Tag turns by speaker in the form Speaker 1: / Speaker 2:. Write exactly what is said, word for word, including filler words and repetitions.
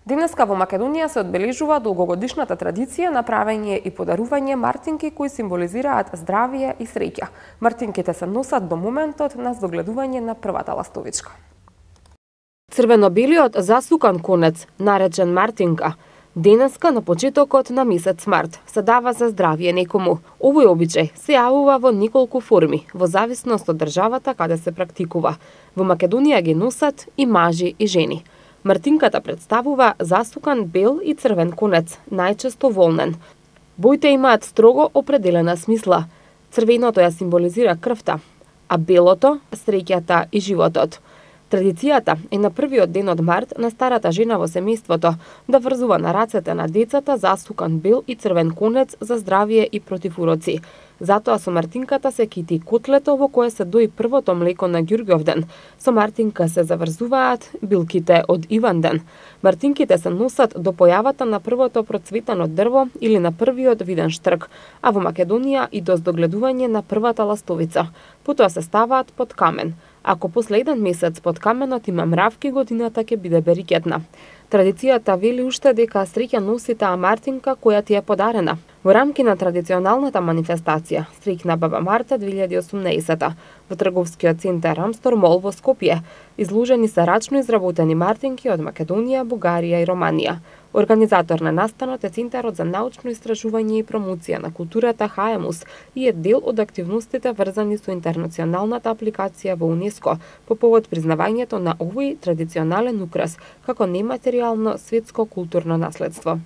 Speaker 1: Денеска во Македонија се одбележува долгогодишната традиција на правење и подарување мартинки кои символизираат здравје и среќа. Мартинките се носат до моментот на догледување на првата ластовичка.
Speaker 2: Црвено-белиот засукан конец, наречен мартинка, денеска на почетокот на месец март се дава за здравје некому. Овој обичај се јавува во неколку форми, во зависност од државата каде се практикува. Во Македонија ги носат и мажи и жени. Мартинката представува засукан бел и црвен конец, најчесто волнен. Боите имаат строго определена смисла. Црвеното ја символизира крвта, а белото – среќата и животот. Традицијата е на првиот ден од март на старата жена во семејството да врзува на рацете на децата засукан бел и црвен конец за здравје и против уроци. Затоа со мартинката се кити котлето во кое се дои првото млеко на Ѓурѓовден. Со мартинка се заврзуваат билките од Иванден. Мартинките се носат до појавата на првото процветано дрво или на првиот виден штрк, а во Македонија и до здогледување на првата ластовица. Потоа се ставаат под камен. Ако после еден месец под каменот има мравки, годината ќе биде берикетна. Традицијата вели уште дека среќа носи таа мартинка која ти е подарена. Во рамки на традиционалната манифестација Среќна баба Марта две илјади и осумнаесета во трговскиот центар Амстор Мол во Скопје изложени се рачно изработени мартинки од Македонија, Бугарија и Романија. Организатор на настанот е Центарот за научно истражување и промоција на културата Хаемус и е дел од активностите врзани со интернационалната апликација во УНЕСКО по повод признавањето на овој традиционален украс како нематеријално светско културно наследство.